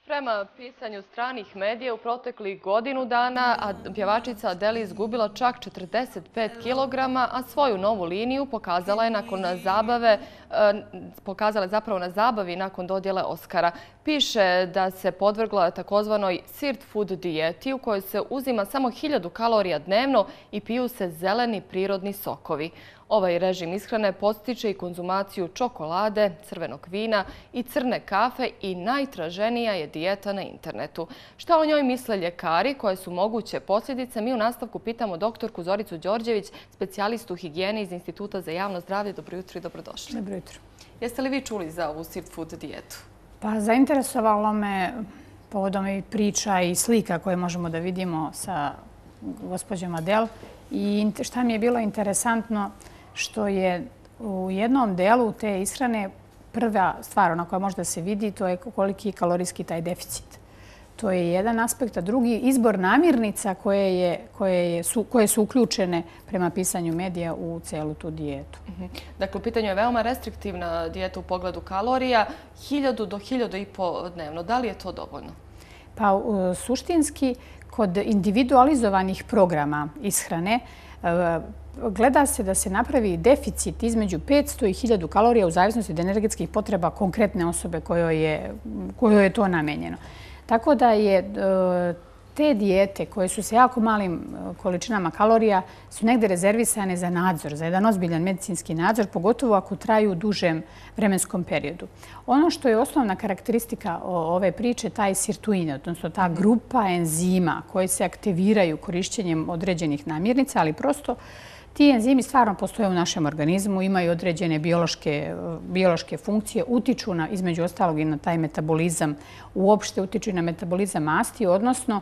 Prema pisanju stranih medija u proteklih godinu dana pjevačica Adele izgubila čak 45 kg, a svoju novu liniju pokazala je zapravo na zabavi nakon dodjele Oscara. Piše da se podvrgla takozvanoj sirt food dijeti u kojoj se uzima samo 1000 kalorija dnevno i piju se zeleni prirodni sokovi. Ovaj režim ishrane postiče i konzumaciju čokolade, crvenog vina i crne kafe i najtraženija je dijeta na internetu. Šta o njoj misle ljekari, koje su moguće posljedice? Mi u nastavku pitamo doktorku Zoricu Đorđević, specijalistu higijene iz Instituta za javno zdravlje. Dobro jutro i dobrodošli. Dobro jutro. Jeste li vi čuli za ovu sirt food dijetu? Pa zainteresovalo me povodom i priča i slika koje možemo da vidimo sa gospođom Adele. I šta mi je bilo interesantno, što je u jednom delu te ishrane prva stvar na koja može da se vidi, to je koliki je kalorijski taj deficit. To je jedan aspekt, a drugi izbor namirnica koje su uključene prema pisanju medija u celu tu dijetu. Dakle, u pitanju je veoma restriktivna dijeta u pogledu kalorija, 1000 do 1500 dnevno. Da li je to dovoljno? Pa suštinski, kod individualizovanih programa ishrane, gleda se da se napravi deficit između 500 i 1000 kalorija u zavisnosti od energetskih potreba konkretne osobe kojoj je to namenjeno. Tako da je te dijete koje su sa jako malim količinama kalorija su negde rezervisane za nadzor, za jedan ozbiljan medicinski nadzor, pogotovo ako traju u dužem vremenskom periodu. Ono što je osnovna karakteristika ove priče, taj sirtuin, odnosno ta grupa enzima koji se aktiviraju korišćenjem određenih namirnica, ali prosto ti enzimi stvarno postoje u našem organizmu, imaju određene biološke funkcije, utiču između ostalog i na taj metabolizam, uopšte utiču i na metabolizam masti, odnosno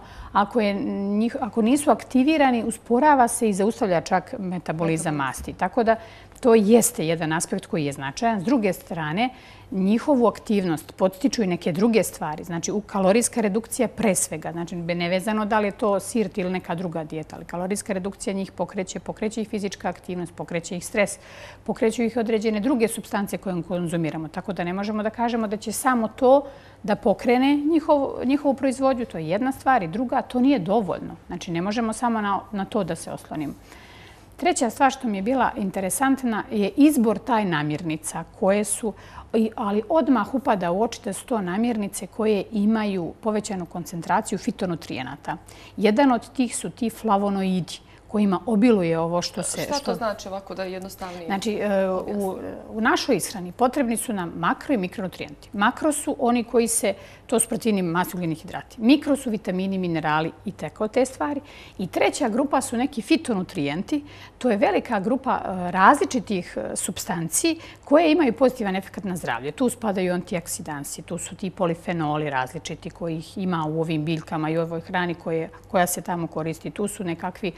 ako nisu aktivirani, usporava se i zaustavlja čak metabolizam masti. Tako da to jeste jedan aspekt koji je značajan. S druge strane, njihovu aktivnost podstiču i neke druge stvari. Znači, kalorijska redukcija pre svega. Znači, nevezano da li je to sirt ili neka druga dijeta, ali kalorijska redukcija njih pokreće ih fizička aktivnost, pokreće ih stres, pokreću ih određene druge supstance koje konzumiramo. Tako da ne možemo da kažemo da će samo to da pokrene njihovu proizvodnju. To je jedna stvar. I druga, to nije dovoljno. Znači, ne možemo samo na to da se oslonimo. Treća stvar što mi je bila interesantna je izbor taj namirnica koje su, ali odmah upada u oči da su to namirnice koje imaju povećanu koncentraciju fitonutrijenata. Jedan od tih su ti flavonoidi kojima obiluje ovo što se... Šta to znači ovako da je jednostavnije? Znači, u našoj ishrani potrebni su nam makro i mikronutrijenti. Makro su oni koji to su proteini, masti, ugljeni hidrati. Mikro su vitamini, minerali i tako te stvari. I treća grupa su neki fitonutrijenti. To je velika grupa različitih supstanci koje imaju pozitivan efekt na zdravlje. Tu spadaju antioksidansi, tu su ti polifenoli različiti kojih ima u ovim biljkama i u ovoj hrani koja se tamo koristi. Tu su nekakvi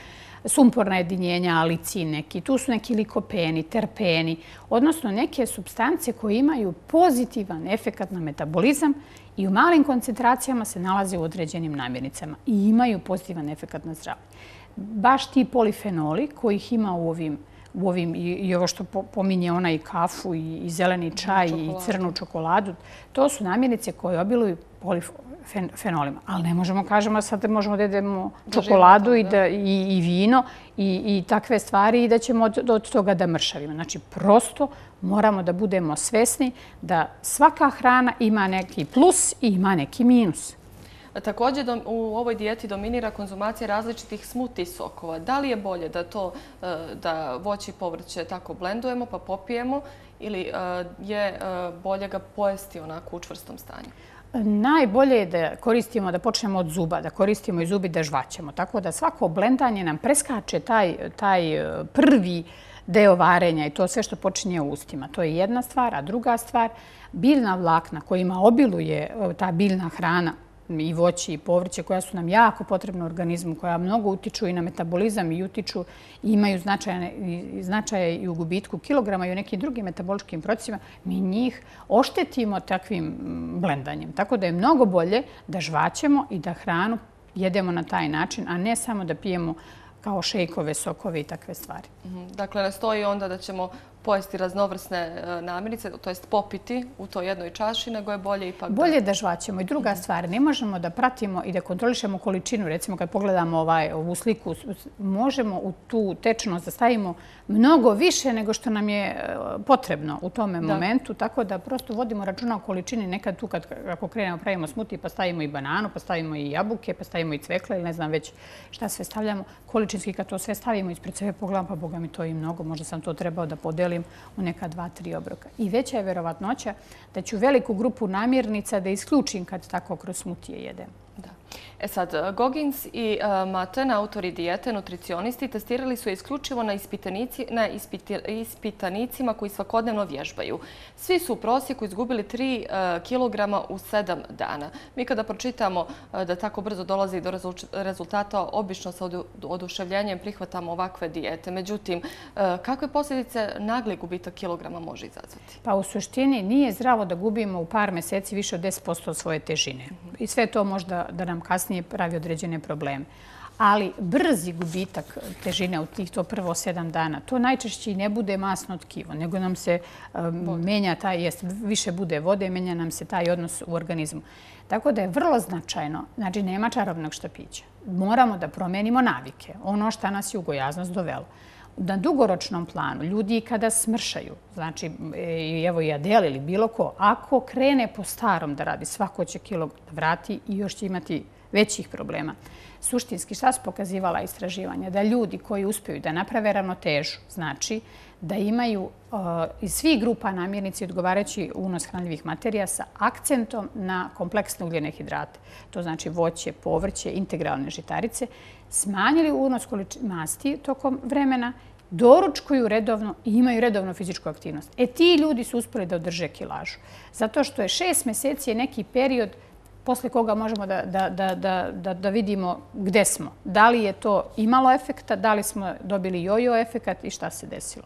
sumporna jedinjenja, alicin neki, tu su neki likopeni, terpeni, odnosno neke supstance koje imaju pozitivan efekt na metabolizam i u malim koncentracijama se nalaze u određenim namirnicama i imaju pozitivan efekt na zdravlje. Baš ti polifenoli kojih ima u ovim, i ovo što pominje ona i kafu i zeleni čaj i crnu čokoladu, to su namirnice koje obiluju polifenolima. Ali ne možemo kažemo sad možemo da jedemo čokoladu i vino i takve stvari i da ćemo od toga da mršavimo. Znači, prosto moramo da budemo svesni da svaka hrana ima neki plus i ima neki minus. Također u ovoj dijeti dominira konzumacija različitih smoothie sokova. Da li je bolje da voće i povrće tako blendujemo pa popijemo ili je bolje ga pojesti onako u čvrstom stanju? Najbolje je da koristimo, da počnemo od zuba, da koristimo i zubi da žvaćemo. Tako da svako blendanje nam preskače taj prvi deo varenja i to sve što počinje u ustima. To je jedna stvar, a druga stvar, biljna vlakna kojima obiluje ta biljna hrana i voće i povrće koja su nam jako potrebna u organizmu, koja mnogo utiču i na metabolizam i utiču i imaju značaje i u gubitku kilograma i u nekim drugim metaboličkim procesima, mi njih oštetimo takvim blendanjem. Tako da je mnogo bolje da žvaćemo i da hranu jedemo na taj način, a ne samo da pijemo kao šejkove, sokove i takve stvari. Dakle, ne stoji onda da ćemo pojesti raznovrsne namirnice, to jest popiti u toj jednoj čaši, nego je bolje ipak bolje da žvaćemo. I druga stvar, ne možemo da pratimo i da kontrolišemo količinu. Recimo, kad pogledamo ovu sliku, možemo u tu tečnost da stavimo mnogo više nego što nam je potrebno u tome momentu, tako da prosto vodimo računa o količini. Nekad tu, ako krenemo, pravimo smutije, pa stavimo i bananu, pa stavimo i jabuke, pa stavimo i cvekle, ili ne znam već šta sve stavljamo. Količinski, kad to sve stavimo ispred sebe, pogledam, pa Boga mi to i mnogo, možda sam to trebao da podelim u neka 2-3 obroka. I veća je verovatnoća da ću veliku grupu namirnica da isključim kad tako kroz smutije jedem. Da. Sad, Goggins i Maten, autori dijete, nutricionisti, testirali su je isključivo na ispitanicima koji svakodnevno vježbaju. Svi su u prosjeku izgubili 3 kilograma u 7 dana. Mi kada pročitamo da tako brzo dolazi do rezultata, obično sa oduševljenjem prihvatamo ovakve dijete. Međutim, kakve posljedice nagli gubitak kilograma može izazvati? Pa u suštini nije zdravo da gubimo u par mjeseci više od 10% svoje težine. I sve to možda da nam kasnije pravi određene probleme. Ali brzi gubitak težine u tih to prvo 7 dana, to najčešće i ne bude masno tkivo, nego nam se menja više bude vode, menja nam se taj odnos u organizmu. Tako da je vrlo značajno, znači nema čarobnog štapića. Moramo da promijenimo navike, ono što nas je u gojaznost dovelo. Na dugoročnom planu, ljudi kada smršaju, znači evo i Adele ili bilo ko, ako krene po starom da radi, svako će kilo da vrati i još će imati većih problema. Suštinski, šta su pokazivala istraživanja? Da ljudi koji uspiju da naprave ravnotežu, znači da imaju iz svih grupa namirnici odgovarajući unos hranljivih materija sa akcentom na kompleksne ugljene hidrate. To znači voće, povrće, integralne žitarice, smanjili unos masti tokom vremena, doručkuju redovno i imaju redovnu fizičku aktivnost. Ti ljudi su uspjeli da održe kilažu. Zato što je 6 mjeseci je neki period posle koga možemo da vidimo gde smo. Da li je to imalo efekta, da li smo dobili jojo efekat i šta se desilo.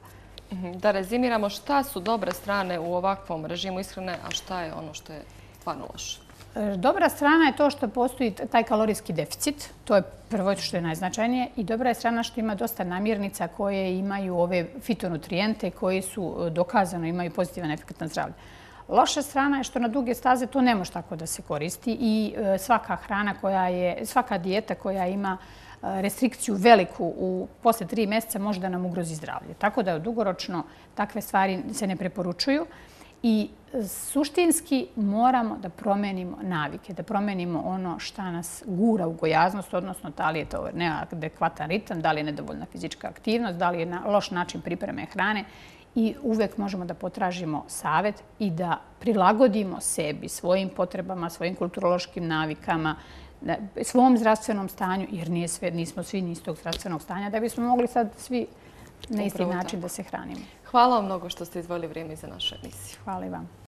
Da rezimiramo, šta su dobre strane u ovakvom režimu ishrane, a šta je ono što je stvarno loše? Dobra strana je to što postoji taj kalorijski deficit. To je prvo što je najznačajnije. I dobra je strana što ima dosta namirnica koje imaju ove fitonutrijente koji su dokazano imaju pozitivan efekt na zdravlje. Loša strana je što na duge staze to ne može tako da se koristi i svaka dijeta koja ima restrikciju veliku posle 3 mjeseca može da nam ugrozi zdravlje. Tako da dugoročno takve stvari se ne preporučuju i suštinski moramo da promenimo navike, da promenimo ono šta nas gura u gojaznost, odnosno da li je to neadekvatan ritam, da li je nedovoljna fizička aktivnost, da li je loš način pripreme hrane. I uvek možemo da potražimo savjet i da prilagodimo sebi, svojim potrebama, svojim kulturološkim navikama, svom zdravstvenom stanju, jer nismo svi ni istog zdravstvenog stanja, da bismo mogli sad svi na isti način da se hranimo. Hvala vam mnogo što ste izdvojili vrijeme za našu emisiju. Hvala i vam.